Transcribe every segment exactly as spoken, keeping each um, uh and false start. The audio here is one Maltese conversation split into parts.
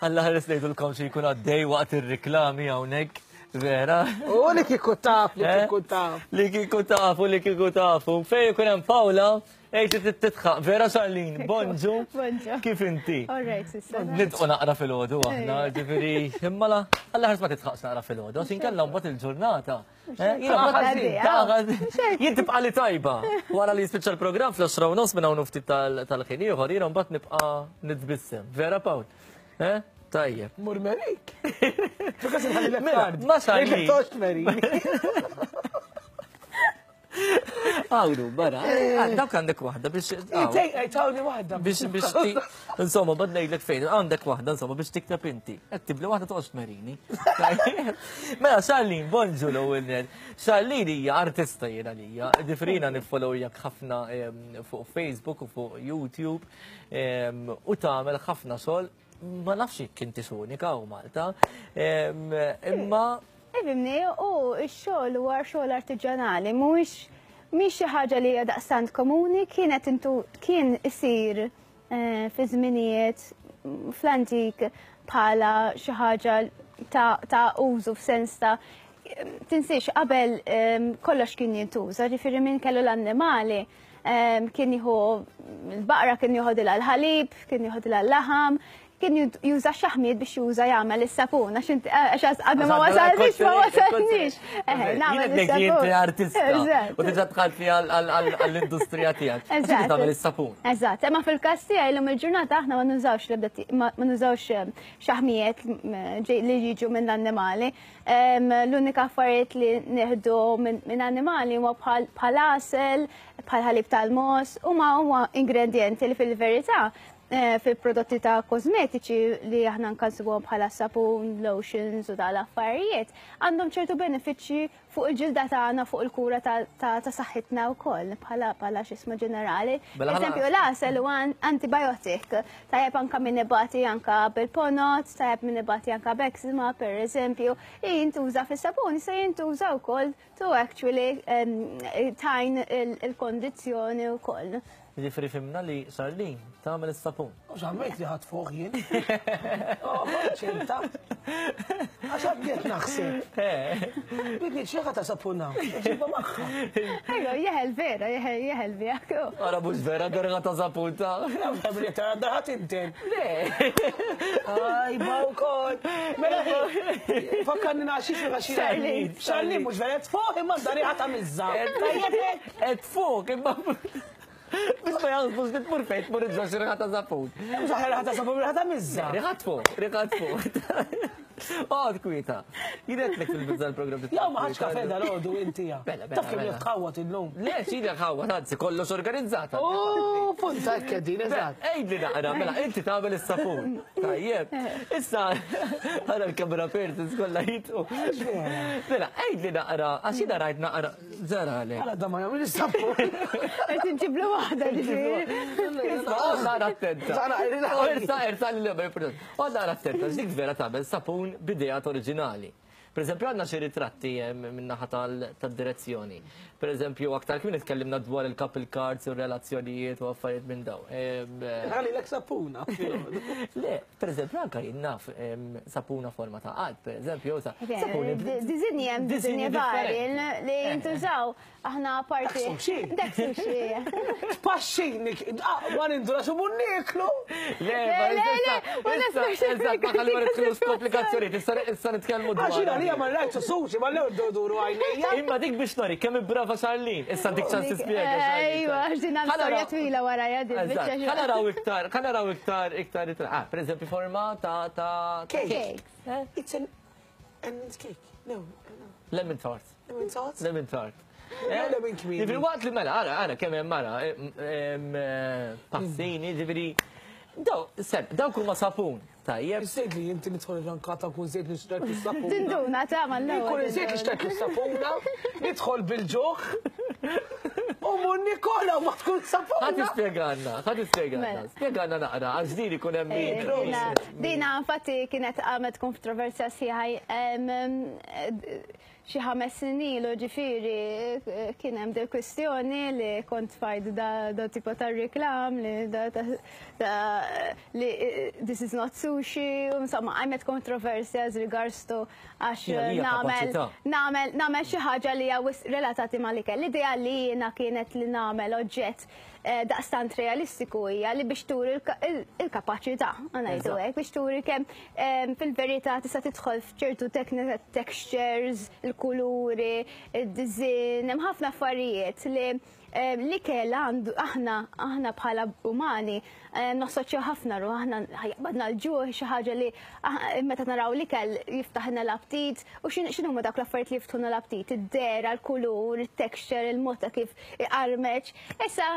Alla ħares ngħidulkom xi jkun għaddej waqt ir-riklami hawnhekk, vera. U li kieku taf, li Eh? kieku taf. Li kieku tafu, li kieku tafu. Fej jkun hemm Paula, ejt titħaq. Vera Charlene, bonġu. Bonġu. Kif inti? All right, sissa. Nidqu naqra fil-ħodu aħna, ġifieri, imma la, alla ħares ma titħaqx naqra fil-ħodu, għax inkella mbagħad il-ġurnata. Eh, jiena mbagħad- Għaddi, Jien tibqa' li tajba. Wara li jispiċċa l-programm fl-għoxra u nofs minn hawn ftit tal-ħin ieħor, jiena mbagħad nibqa' nitbissem. Vera Pawl? Eh? Tajjeb. Mur merik. Tukas il-ħalli Mela, l-kard. ma Charlene. Tox merik. Għawru, barra. Eh, dawk għandek waħda biex. Tawni waħda. Biex biex ti. Insomma, bad ngħidlek fejn, għandek waħda, insomma, biex tikteb inti. Qed tibli waħda toqgħodx tmerini. Mela, Charlene, bonġu l-ewwel net. Charlene hija artista jiena lija. Difrina niffollowjak ħafna em, fuq Facebook u fuq YouTube em, u tagħmel ħafna xogħol. Ma nafx jekk inti unika u Malta. Em, Imma Ifhimni, u x-xogħol huwa xogħol artiġjanali, mhuwiex mhix xi ħaġa li hija daqstant komuni, kienet intu kien isir eh, fi żminijiet mm, fl-antik bħala xi ħaġa ta' ta' użu f'sens ta' tinsiex qabel em, kollox kien jintuża, ġifieri min kellu l-annimali em, kien jieħu l-baqra kien jieħodilha l-ħalib, kien jieħodilha l-laħam, kien juża xaħmiet biex juża jagħmel is-sapun, għax inti għax għadna ma wasalniex, ma wasalniex. Eħe, nagħmel Jien inti is-sapun. artista. Eżatt. U diġà dħalt fi għall-industrija tiegħek. Għax inti Eżatt. tagħmel is-sapun. Eżatt, imma fil-każ tiegħi llum il-ġurnata aħna ma nużawx l-ebda ti- ma ma nużawx eh, xaħmijiet mm, ġej- li jiġu minn annimali. Em, L-unika affarijiet li nieħdu minn minn annimali huwa bħal bħal għasel, bħal ħalib tal-mogħoż, huma huma ingredienti li fil-verità eh, fil-prodotti ta' kosmetiċi li aħna nkansibuhom bħala sapun, lotions u dal-affarijiet, għandhom ċertu benefiċċji fuq il-ġilda tagħna, fuq il-kura ta' ta' ta' saħħitna wkoll bħala bħala x'ismu ġenerali. Mela ħana- Eżempju, l-għasel huwa an- antibiotic, tajjeb anka min ibati anka bil-ponot, tajjeb min ibati anka b'eczema, per eżempju, jintuża fis-sapun, se jintuża wkoll to actually um, tajn il-kondizzjoni wkoll. Ġifieri fhimna li Charlene tagħmel is-sapun. U xammejt li ħat fuq jien. Oh, ċenta. Għax għaddiet naħseb. Bidni xieħa ta' sapuna. Ġiba maħħa. Ejjo, jeħel vera, jeħel jeħel bijak. Ara mhux vera darga ta' sapun ta' Għamli ta' daħat inten. Le. Aj, ba' u kol. Mela, fakkarni naxi xi għaxi. Charlene. Charlene, mux vera fuq imma dari ħata mizza. Et fuq imma biex ma jaħsbux li tmur fejn tmur iġġa xi riħa ta' sapun. Mux ħata sapun, ħata mizza. Riħat fuq, riħat fuq. Għad kwieta. Jidetlek fil-bizza l-program. Jew ma ħadx kafe dal-għodu inti ja. Bella, bella, Taf kemm bella. jitħawat illum. Le, xili ħawwa, anzi, kollox organizzata. Oh, punta kedin, eżatt. Ejdi naqra, mela, inti tagħmel is-sapun. Tajjeb. Issa, għara l-kamera persons kollha jitu. Mela, ejdi naqra, għax jiena rajt naqra, ġara għalek. Għala da ma jagħmel is-sapun. Qed inġiblu waħda ġifieri. Issa, naqra attenta. Zara, irina. Irsa, irsa, l-leba, naqra attenta, dik vera tagħmel sapun b'ideat oriġinali. Per eżempju, għandna xi ritratti min-naħa tad-direzzjoni. Per eżempju, aktar kmin tkellimna dwar il-couple cards u relazzjonijiet u affarijiet minn daw. Għalli l sapuna. Le, per eżempju, anka jien naf sapuna forma ta' qalb, per eżempju, sapuni. Disinji hemm disinji vari li jintużaw aħna parti. Dak sushi. Tpaxxini, ma nindura xu mun niklu. Le, le, le, eżatt, ma ħalli ma nidħlux komplikazzjoni, issa nitkellmu dwar. Għaxina li ma rajtu sushi, ma l-ewwel duru għajnejja. Imma dik biex nori, kemm brava Charlene, issa dik ċans tispjega. Ejwa, ġdina storja twila wara jadi. Ħa naraw iktar, ħa naraw iktar, iktar, ah, per eżempju, forma ta' ta' cake. It's an almond cake. No, Lemon tart. Lemon tart? Lemon tart. Lemon cream. Ġifieri waqt li mela, ara, ara, kemm hemm mara, passini, ġifieri, daw, seb, dawk huma sapun. Tajjeb. Sejt li inti nidħol il-rankata kun zejt li xtrajt is-sapuna. Tinduna ta' mal Kun zejt li xtrajt is-sapuna, nidħol bil-ġuħ. U mun Nikola ma tkun sapuna. Ħa tispjegalna, ħa tispjegalna. Spjegalna naqra, għax din ikun hemm min. Dina infatti kienet għamet kontroversja sħiħa xi ħames snin ilu ġifieri kien hemm dil kwistjoni li kont fajt da, da tipo ta' reklam li da, da, da li this is not sushi. Sushi, insomma, għajmet kontroversja as regards to għax nagħmel nagħmel nagħmel xi ħaġa li hija relatati mal-ikel. L-idea li jiena kienet li nagħmel oġġett daqstant realistiku hija li biex turi il-kapaċità, ngħidu hekk, biex turi kemm fil-verità tista' tidħol f'ċertu textures, il-kuluri, id-design, hemm ħafna affarijiet li li kella għandu aħna aħna bħala umani nassoċjaw ħafna ru aħna jaqbadna l-ġuħ xi ħaġa li meta naraw l-ikel jiftaħna l-aptit u x'inhu huma dawk l-affarijiet li jiftħuna l-aptit, id-dera, l-kulur, it-texture, il-mod ta' kif iqarmeċ. Issa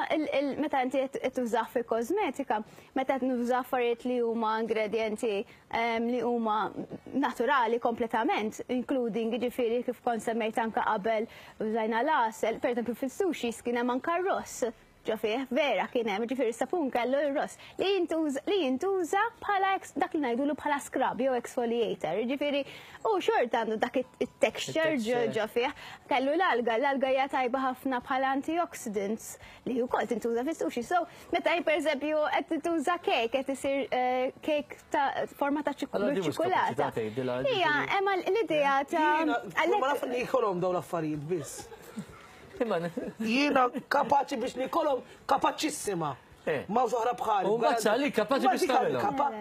meta inti qed tużah fil-kosmetika, meta qed nuża affarijiet li huma ingredienti li huma naturali kompletament, including jiġifieri kif kont semmejt anke qabel użajna l-għasel, pereżempju fil-sushi kien hemm anke r-ross ġo fih, vera kien hemm, ġifieri sapun kellu r-ross li jintuża li jintuża bħala dak li ngħidulu bħala scrub jew exfoliator, ġifieri u xorta għandu dak it-texture ġo fih. Kellu l-alga, l-alga hija tajba ħafna bħala antioxidants li wkoll tintuża fis-sushi. So meta jien pereżempju qed tintuża cake, qed isir cake ta' forma ta' ċokolata. Hija, hemm l-idea ta' Ma naf li jkollhom dawn l-affarijiet biss. Jiena kapaċi biex nikolhom kapaċissima. Ma oħra bħali. U mbagħad li kapaċi biex tagħmilhom.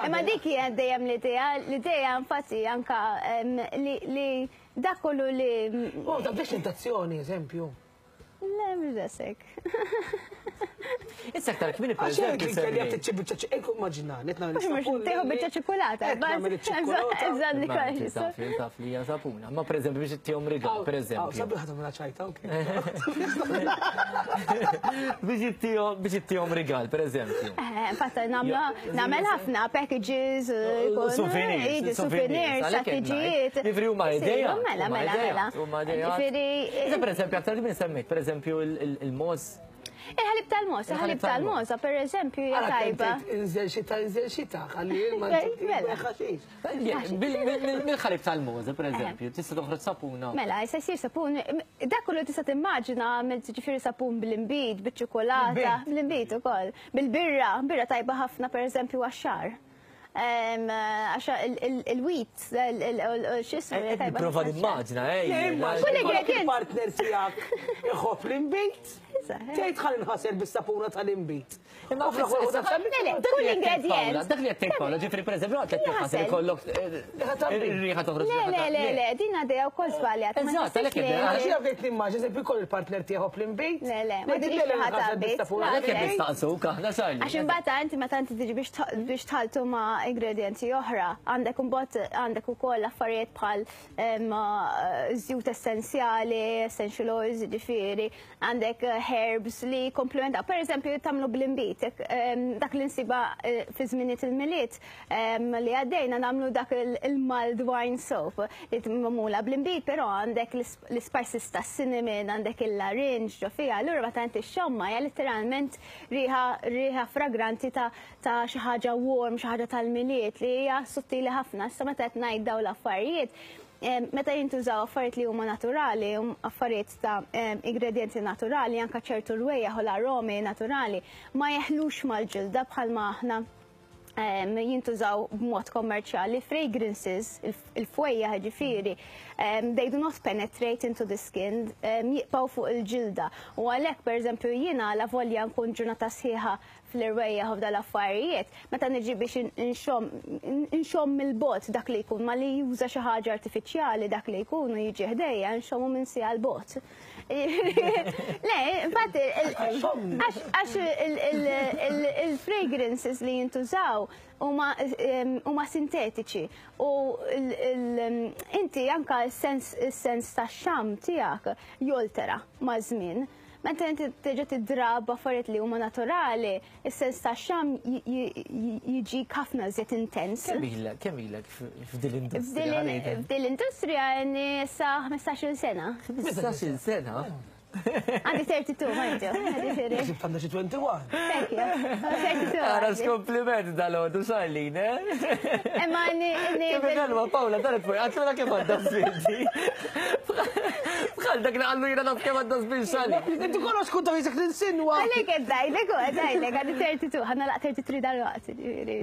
Imma dik hija dejjem l-idea, l-idea infatti anka li dak kollu li. Oh, ta' biex tentazzjoni, eżempju. Le, mhux dasek. Issa aktar kmieni pereżempju. Għax jekk tiċċi biċċa ċ immaġina, Mhux tieħu biċċa ċokolata. Eżatt li kollox. Taf li taf li hija sapuna. Ma pereżempju biex ittihom rigal, pereżempju. Sabiħ tagħmilha ċajta, okej. Biex ittihom biex ittihom rigal, pereżempju. Infatti nagħmel ħafna packages, souvenirs, souvenirs, strateġijiet. Ġifieri huma idea. Mela, mela, mela. Huma idea. Ġifieri. Pereżempju aktar kmieni semmejt, pereżempju il-moz. Il-ħalib tal-moza, il-ħalib tal-moza, per eżempju, hija tajba. Inżel xita, inżel xita, ħalli ma ħaxix. Mill-ħalib tal-moza, per eżempju, tista' toħroġ sapuna. Mela, jista' jsir sapun, dak kollu tista' timmaġina għamilt ġifieri sapun bl-imbid, biċ-ċokolata, bl-imbid ukoll, bil-birra, birra tajba ħafna per eżempju għax-xagħar. Għax il-wheat, x'ismu. Prova nimmaġina, ej. Kull ingredient. Il-partner tiegħek iħobb l-imbid. Tgħid ħalli nħasel bis-sapuna tal-imbid. Imma kull ingredient. Dak li qed tgħid Paola, ġifieri pereżempju qed tinħasel ikollok ir-riħa toħroġ. Le, le, le, le, din għadejja wkoll żbaljat. Eżatt, għalhekk Għax jiena bdejt nimmaġina eżempju jkoll il-partner tiegħu l-imbid. Le, le, ma tgħidx riħa tal-imbid. Għalhekk qed nistaqsuk aħna Charlie. Għax imbagħad inti meta inti tiġi biex tħaltu ma' ingredienti oħra, għandek imbagħad għandek ukoll affarijiet bħal żjut essenzjali, essential oils, ġifieri, għandek herbs li komplementaw. Per eżempju, tagħmlu bl-imbid, dak li nsiba fi żminijiet il-Milied li għaddejna nagħmlu dak il-mulled wine soap li magħmula bl-imbid, però għandek l-spices ta' cinnamon, għandek il-larinġ ġo fiha, allura meta inti xomma hija letteralment riħa riħa fragranti ta' xi ħaġa warm, xi ħaġa tal-Milied li hija sottili ħafna. Issa meta qed ngħid dawn l-affarijiet, meta jintużaw affarijiet li huma naturali, affarijiet ta' ingredienti naturali, anka ċertu rwejjaħ u l-aromi naturali, ma jeħlux mal-ġilda bħalma aħna jintużaw b'mod kommerċjali. Fragrances, il-fwejja ġifieri, they do not penetrate into the skin, jibqgħu fuq il-ġilda. U għalhekk pereżempju jiena la volja nkun ġurnata sħiħa fl-irwejjaħ u f'dal-affarijiet, meta niġi biex inxomm mill-bot dak li jkun, ma li juża xi ħaġa artifiċjali dak li jkun u jiġi ħdejja nxommu minn sija l-bot. Le, infatti, għax il-fragrances li jintużaw huma sintetiċi u inti anka s-sens tax-xam tiegħek joltera maż-żmien. Meta inti terġa' tidrab affarijiet li huma naturali, is-sens tax-xam jiġi ħafna iżjed intens. Kemm ilek, kemm ilek f'din l-industrija? F'din l-industrija sa ħmistax-il sena. ħmistax-il sena? Għandi thirty-two, ma inti. Ġibt għandha xi twenty-one. Thank you. thirty-two. Ara x'kompliment dal-għodu Charlene, eh? Imma ni. Kif kelma Paola daret fuq, għatlu kemm għandha sfidi. Bħal Għal dak li qallu jiena naf kemm għandha żmien Charlene. Inti kollox kont jisek ninsinwa. Għalek għeddajlek, għeddajlek, għandi tlieta u tletin, ħa nagħlaq tlieta u tletin dal-waqt.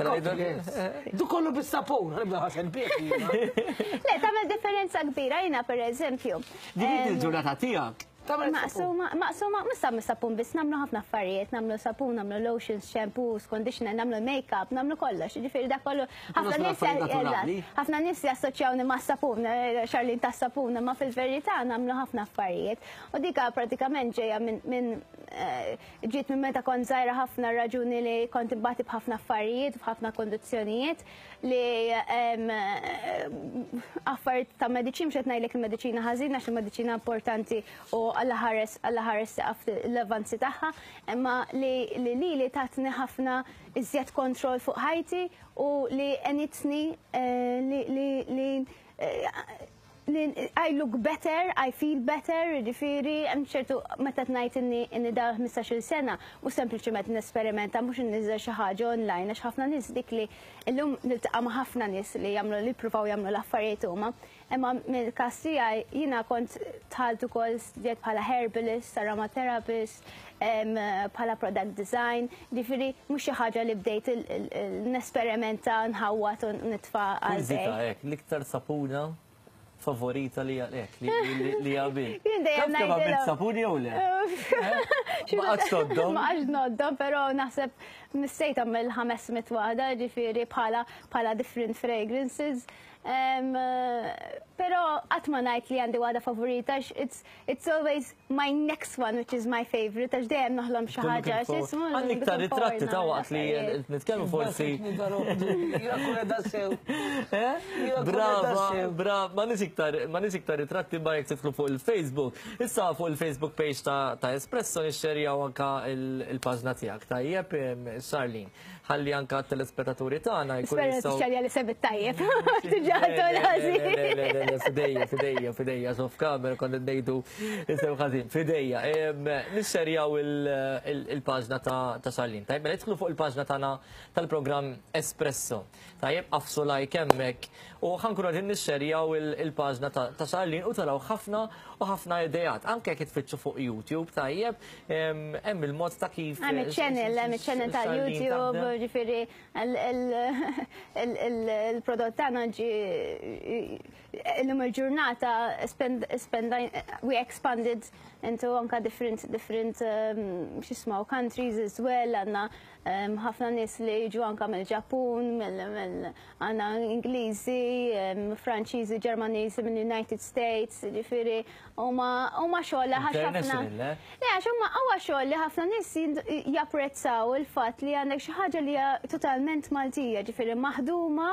Mela Du kollu bis-sapun, ħa nibda ħasen bih. Le, tagħmel differenza kbira jiena per eżempju. Din il-ġurnata tiegħek. Maqsuma, maqsuma, mista sapun biss, nagħmlu ħafna affarijiet, nagħmlu sapun, nagħmlu lotions, shampoos, conditioner, nagħmlu make-up, nagħmlu kollox. Ġifieri da kollu, ħafna nies ħafna nies jassoċjawni ma' sapun, Charlene ta' sapun, ma fil-verità nagħmlu ħafna affarijiet. U dika pratikament ġejja minn ġiet minn meta kont żgħira ħafna, raġuni li kont imbati b'ħafna affarijiet, b'ħafna kondizzjonijiet li affarijiet ta' mediċina, mhux qed ngħidlek il-mediċina ħażina għax il-mediċina importanti u Alla ħares Alla ħares l-avanzi tagħha, imma li li li tatni ħafna iżjed kontroll fuq ħajti u li għenitni li li I look better, I feel better, ġifieri, hemm ċertu meta tnajt inni inni da ħmistax-il sena, u sempliċement nesperimenta, mhux inniżel xi ħaġa online, għax ħafna nies dik li illum niltaqa' ma' ħafna nies li jagħmlu li jippruvaw jagħmlu l-affarijiet huma. Imma mill-każ tiegħi jiena kont dħalt ukoll studjat bħala herbalist, aromatherapist, bħala product design, ġifieri mhux xi ħaġa li bdejt nesperimenta, nħawwat u nitfa' għal. L-iktar sapuna favorita li għalek, li għabil. Jien dejjem ngħidilhom. Sapuni jew le? Ma qgħadx tgħoddhom. Ma qgħadx ngħoddhom, però naħseb missejt tagħmel ħames mitt waħda, ġifieri bħala bħala different fragrances. Però qatt ma ngħid li għandi waħda favorita, it's it's always my next one which is my favorite, għax dejjem noħlom xi ħaġa. Għandi iktar ritratti ta' waqt li nitkellmu forsi. Brava, brava, ma nix iktar, ma nix iktar ritratti ma jekk tidħlu fuq il-Facebook. Issa fuq il-Facebook page ta' Espresso nixxerjaw anka il-paġna tiegħek. Tajjeb, Charlene, ħalli anka t-telespettaturi tagħna jkun jistgħu. Spera li sebit tajjeb. Fidejja, fidejja, fidejja, so f'kamera konna ngħidu isew ħażin, fidejja. Nixxerjaw il-paġna ta' Charlene. Tajjeb, mela idħlu fuq il-paġna tagħna tal-programm Espresso. Tajjeb, agħfsu like hemmhekk u ħa nkunu qegħdin nixxerjaw il-paġna ta' Charlene u taraw ħafna u ħafna idejat. Anke jekk tfittxu fuq YouTube, tajjeb, hemm il-mod ta' kif. Hemm iċ-channel, hemm iċ-channel ta' YouTube, ġifieri il-prodott tagħna ġi illum il-ġurnata spend we expanded into anka different different x'ismaw countries as well, għandna ħafna nies li jiġu anka mill-Ġappun, għandna Ingliżi, Franċiżi, Ġermaniżi mill-United States, ġifieri huma huma xogħol ħafna. Le, għax huma huwa xogħol li ħafna nies japprezzaw il-fatt li għandek xi ħaġa li hija totalment Maltija, ġifieri maħduma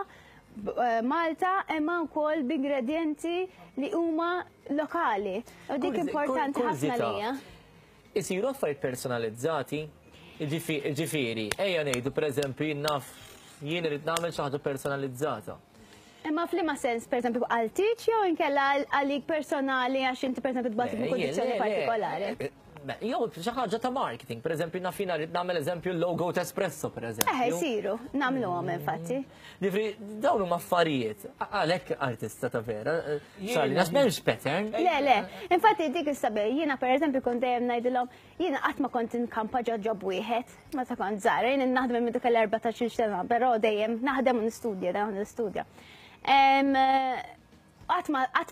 Malta imma wkoll b'ingredienti li huma lokali. U dik importanti ħafna lija. Isiru affarijiet personalizzati, ġifieri, ejja ngħidu pereżempju naf jien irid nagħmel xi ħaġa personalizzata. Imma f'liema sens, pereżempju għal tieġ jew inkella għalik personali għax inti pereżempju tbati b'kundizzjoni partikolari? Jew xi ħaġa ta' marketing, pereżempju naf jiena rrid nagħmel eżempju l-logo ta' Espresso pereżempju. Eh, isiru, nagħmluhom infatti. Ġifieri dawn huma affarijiet, għalhekk artista ta' vera, Charlene, għax m'hemmx pattern. Le, le, infatti dik is-sabiħ, jiena pereżempju kont dejjem ngħidilhom, jiena qatt ma kont inkampa ġo job wieħed, meta kont żgħira, jiena naħdem minn dik l-erbatax-il sena, però dejjem naħdem u nistudja, dejjem nistudja. Qatt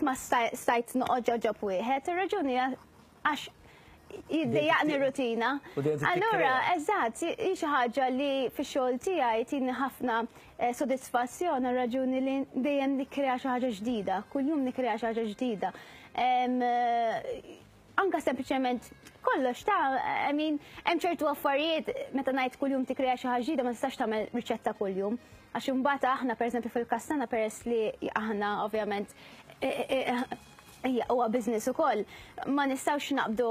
ma stajt noqgħod ġo job wieħed, ir-raġuni għax jiddejjaqni rutina. Allura, eżatt, hi xi ħaġa li fix-xogħol tiegħi tini ħafna sodisfazzjon, raġuni li dejjem nikkrea xi ħaġa ġdida, kuljum nikkrea xi ħaġa ġdida. Anka sempliċement kollox ta' I mean, hemm ċertu affarijiet meta ngħid kuljum tikkrea xi ħaġa ġdida ma tistax tagħmel riċetta kuljum. Għax imbagħad aħna pereżempju fil-kastana peress li aħna ovvjament huwa business ukoll, ma nistgħux naqbdu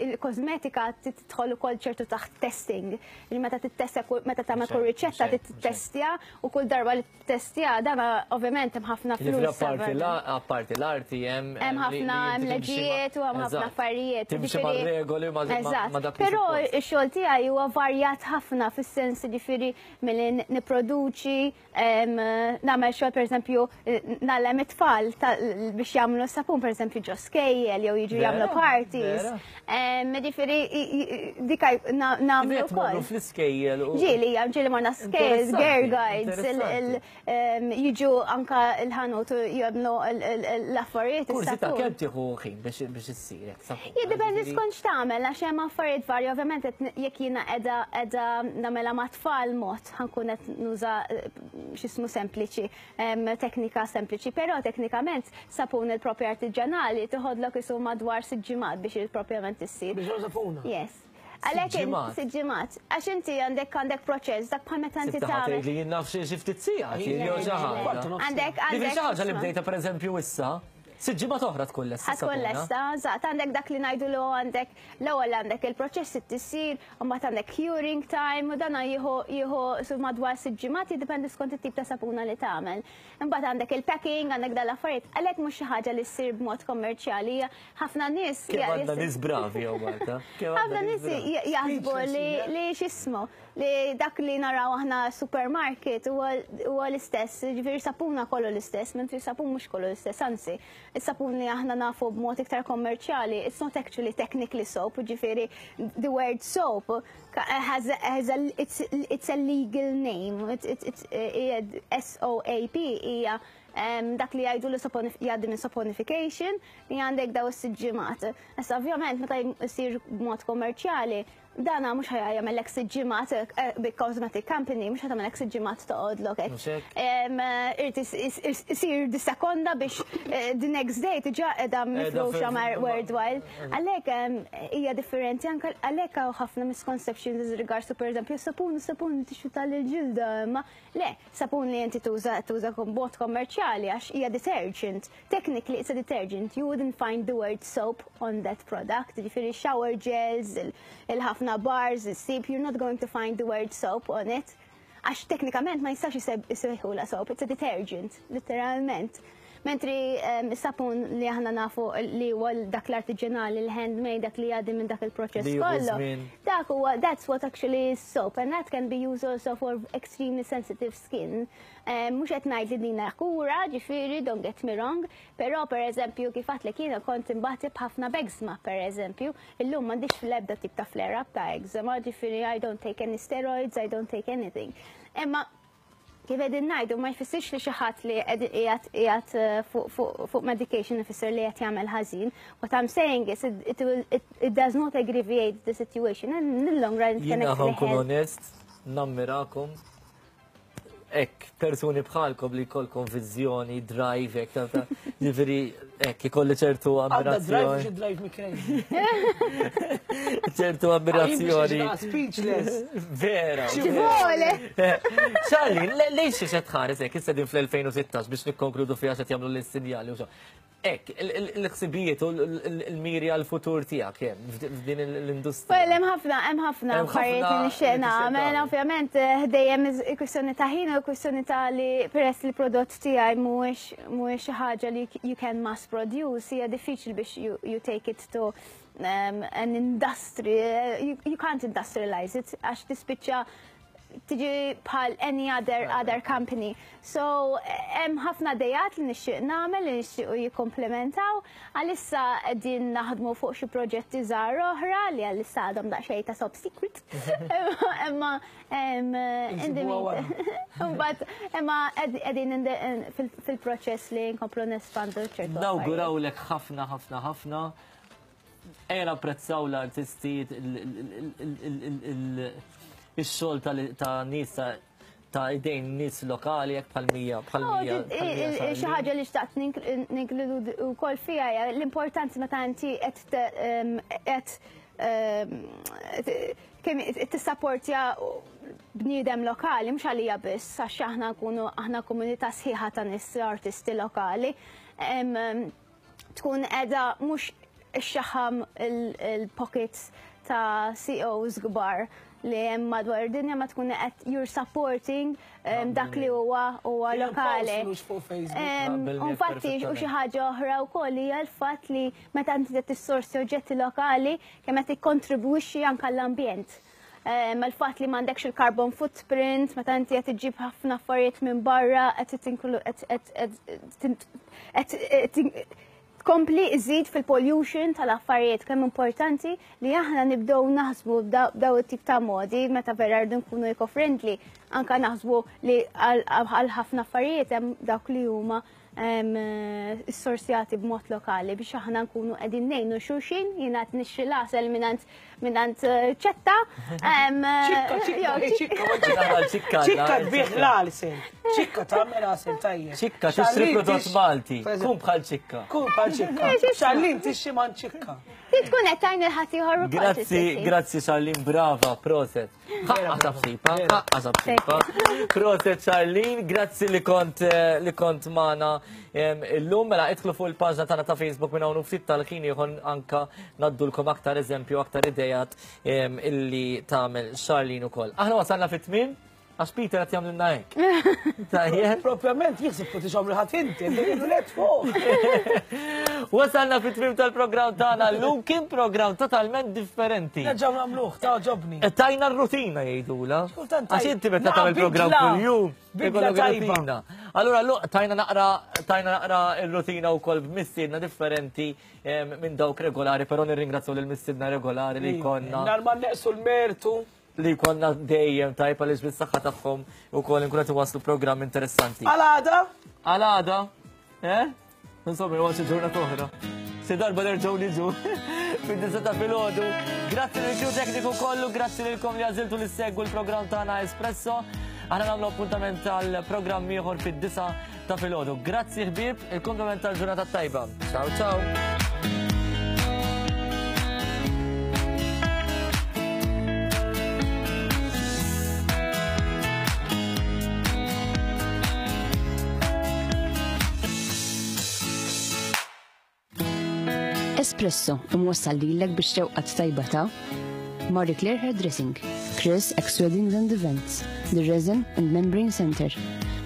il-kosmetika tidħol ukoll ċertu taħt testing. Li meta tittestja meta tagħmel kull riċetta tittestja u kull darba li tittestja dan ovvjament hemm ħafna flus. Apparti l-arti hemm hemm ħafna hemm leġijiet u hemm ħafna affarijiet. Timxi mar-regoli ma dak. Però x-xogħol tiegħi huwa varjat ħafna fis-sens ġifieri milli nipproduċi, nagħmel xogħol pereżempju nagħlem it-tfal biex biex jagħmlu sapun, per eżempju, ġo skejjel jew jiġu jagħmlu parties. Ġifieri dika nagħmlu wkoll. Fl-iskejjel. Ġieli, ġieli morna skejjel, girl guides, jiġu anka l-ħanut jagħmlu l-affarijiet. Kursi ta' kemm tieħu ħin biex issir sapun? Jiddependi skont x'tagħmel, għax hemm affarijiet varji, ovvjament jekk jiena qiegħda qiegħda nagħmilha mat-tfal mod ħa nkun qed nuża x'ismu sempliċi, teknika sempliċi, però teknikament sapun il-propju artiġanali toħodlok isu madwar sitt ġimgħat biex il-propjament issir. Biex sapuna? Yes. Għalhekk sitt ġimgħat. Għax inti għandek għandek proċess dak bħal meta inti tagħmel. Li jien naf xi ftit sigħat jew xi ħaġa. Għandek għandek. Xi ħaġa li bdejta pereżempju issa. Sitt ġimgħat oħra tkun lesta. Tkun lesta, eżatt, għandek dak li ngħidu l għandek l-ewwel għandek il-proċess tisir, u mbagħad għandek curing time u dana jieħu jieħu su madwar sitt ġimgħat, jiddependi skont it-tip ta' sapuna li tagħmel. Imbagħad għandek il-packing, għandek dal-affarijiet, għalhekk mhux xi ħaġa li ssir b'mod kommerċjali, ħafna nies. Kemm għandna nies bravi jew Malta. Ħafna nies jaħsbu li x'ismu li dak li naraw aħna supermarket huwa l-istess, ġifieri sapuna kollu l-istess, mentri sapun mhux kollu l-istess, anzi, is-sapun li aħna nafu b'mod iktar kommerċjali, it's not actually technically soap, ġifieri the word soap has a, has a, it's, it's a legal name, it's, it's, S O A P hija dak li jgħidu li jgħaddi minn saponification li għandek daw is-siġġimat. Issa ovvjament meta jsir b'mod kommerċjali, dana mhux ħa jagħmellek sitt ġimgħat, big cosmetic company mhux ħa tagħmellek sitt ġimgħat toqgħodlok hekk. Irid isir di sekonda biex the next day diġà qiegħda mifruxa worldwide. Għalhekk hija differenti, anke għalhekk hawn ħafna misconceptions with regards to, pereżempju, sapun, sapun tixu tal-ġilda, ma le, sapun li inti tuża tuża b'mod kommerċjali għax hija detergent. Technically it's a detergent. You wouldn't find the word soap on that product. Ġifieri shower gels, il-ħafna bars, il-sip, you're not going to find the word soap on it. Għax teknikament ma jistax jisejħula soap, it's a detergent, literalment. Mentri sapun li aħna nafu li huwa dak l-artiġanali, l-handmade, dak li jgħaddi minn dak il-proċess kollu. Dak huwa, that's what actually is soap, and that can be used also for extremely sensitive skin. Mhux qed ngħid li dina kura, ġifieri, don't get me wrong, però per eżempju kif għedtlek jiena kont imbagħad b'ħafna b'eczema, per eżempju, illum m'għandix fl-ebda tip ta' flare up ta' eczema, ġifieri I don't take any steroids, I don't take anything. Imma kif qegħdin ngħidu, ma jfissirx li xi ħadd li qiegħed qiegħed fuq medication ifisser li qed jagħmel ħażin. What I'm saying is it, it, will, it, it does not aggravate the situation and in the long run it can Jiena actually nkun help. onest, nammirakom. Ek, persuni bħalkom li jkollkom viżjoni, drive, ek, ta' ta' ġifieri, ek, ikolli ċertu Għandha drive ammirazzjoni. xi drive me crazy. ċertu ammirazzjoni. Speechless. Vera. Ci vuole! Charlie, lejx xi tħares hekk, issa din fl-elfejn u sittax biex nikkonkludu fiha x'qed jagħmlu l-sinjali u so. Ek, il-ħsibijiet u l-miri għal-futur tiegħek hemm f'din l-industrija. Well, hemm ħafna, hemm ħafna Hemm ħafna affarijiet li nixtieq li tixtieq nagħmel. tagħmel. Ovvjament eh, dejjem kwistjoni ta' ħin u kwistjoni ta' li peress li prodott tiegħi mhuwiex mhuwiex xi ħaġa li you can mass produce, hija diffiċli biex you, you take it to um, an industry. You, you can't industrialize it għax tispiċċa tiġi bħal any other other company. So hemm ħafna idejat li nixtieq nagħmel li nixtiequ jikkomplementaw. Għalissa qegħdin naħdmu fuq xi proġetti żgħar oħra li għalissa għadhom daqsxejn ta' top secret. Imma em, in the Insibuha wara. Mbagħad imma qegħdin in the- fil- fil-proċess li nkomplu nespandu ċertu affarijiet. Nawgurawlek ħafna, ħafna, ħafna. Ejja napprezzaw l-artisti, il-xogħol ta' nies ta' ta' idejn nies lokali jekk bħal-mija, bħal-mija. Oh, xi ħaġa li xtaqt ninkludu wkoll fiha hija l-importanza meta inti qed em, qed em, kemm tissapportja bniedem lokali, mhux għalija biss, għax aħna nkunu aħna komunità sħiħa ta' nies artisti lokali. Em, em, tkun qiegħda mhux ixxaħam il-pockets ta' C E Os kbar li hemm madwar id-dinja, ma tkun qed you're supporting um, dak li huwa huwa lokali. Flus fuq Facebook. Em, Naqbel u miegħek Infatti, u xi perfettament. ħaġa oħra wkoll hija l-fatt li meta inti qed tissorsi oġġetti lokali kemm qed tikkontribwixxi anke l-ambjent. Il-fatt li m'għandekx il-carbon footprint, meta inti qed iġġib ħafna affarijiet minn barra, qed tkompli iżid fil-pollution tal-affarijiet. Kemm importanti li aħna nibdew naħsbu b'daw it-tip ta' modi meta vera rridu nkunu eco-friendly, anka naħsbu li għal ħafna affarijiet hemm dawk li huma s-sorsjati b'mod lokali biex aħna nkunu qegħdin ngħinu xulxin. Jiena qed nixtri l-għasel mingħand ċetta. Ċikka, ċikka, ċikka. Ċikka tbih l-għasel. Ċikka tagħmel għasel tajjeb. Ċikka tixtri prodott Malti. Kun bħal ċikka. Kun bħal ċikka. Charlene tixtri man ċikka. Tkun qed tgħin il-ħaddieħor ukoll. Grazzi, grazzi Charlene, brava, proset. Ħaqqa tabsipa, ħaqqa tabsipa. Proset Charlene, grazzi li kont li kont magħna illum. Mela idħlu fuq il-paġna tagħna ta' Facebook minn hawn ftit tal-ħin ieħor anka ngħaddulkom aktar eżempju, aktar idejat illi tagħmel Charlene ukoll. Aħna wasalna fit-tmiem. Għax Peter għat jamlilna hekk. Tajjeb. Propjament jisib kuti xomri ħat inti, let fuq. Wasalna fit-tmiem tal-programm tagħna llum, kien programm totalment differenti. Nerġgħu nagħmluh, ta' ġobni. Tajna r-rutina jgħidula. Għax inti meta tagħmel programm kuljum, ikollok rutina. Allura tajna naqra tajna naqra r-rutina wkoll b'mistiedna differenti minn dawk regolari, però nirringrazzjaw lil mistiedna regolari li jkollna. Narma neqsu l-mertu. Li konna dejjem tajba li bis-saħħa tagħhom ukoll inkunu qed iwasslu programm interessanti. Għal-għada? Għal-għada? Eh? Insomma, huwa xi ġurnata oħra. Se darba nerġgħu niġu fid-disa ta' filgħodu. Grazzi lil crew tekniku kollu, grazzi lilkom li għażiltu li ssegwu l-programm tagħna Espresso. Aħna nagħmlu appuntament tal-programm ieħor fid-disa ta' filgħodu. Grazzi ħbieb, il-komplement tal-ġurnata tajba. Ciao ciao. Espresso imwassal lilek biex xewqat tajba ta' Marie Claire Hairdressing, Chris X Weddings and Events, The Resin and Membrane Center,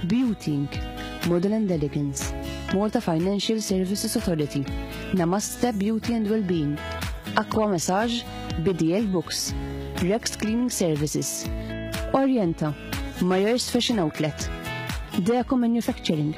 Beauty Incorporated, Model and Elegance, Malta Financial Services Authority, Namaste Beauty and Wellbeing, Aqua Massage, B D L Books, Rex Cleaning Services, Orienta, Myers Fashion Outlet, Deco Manufacturing,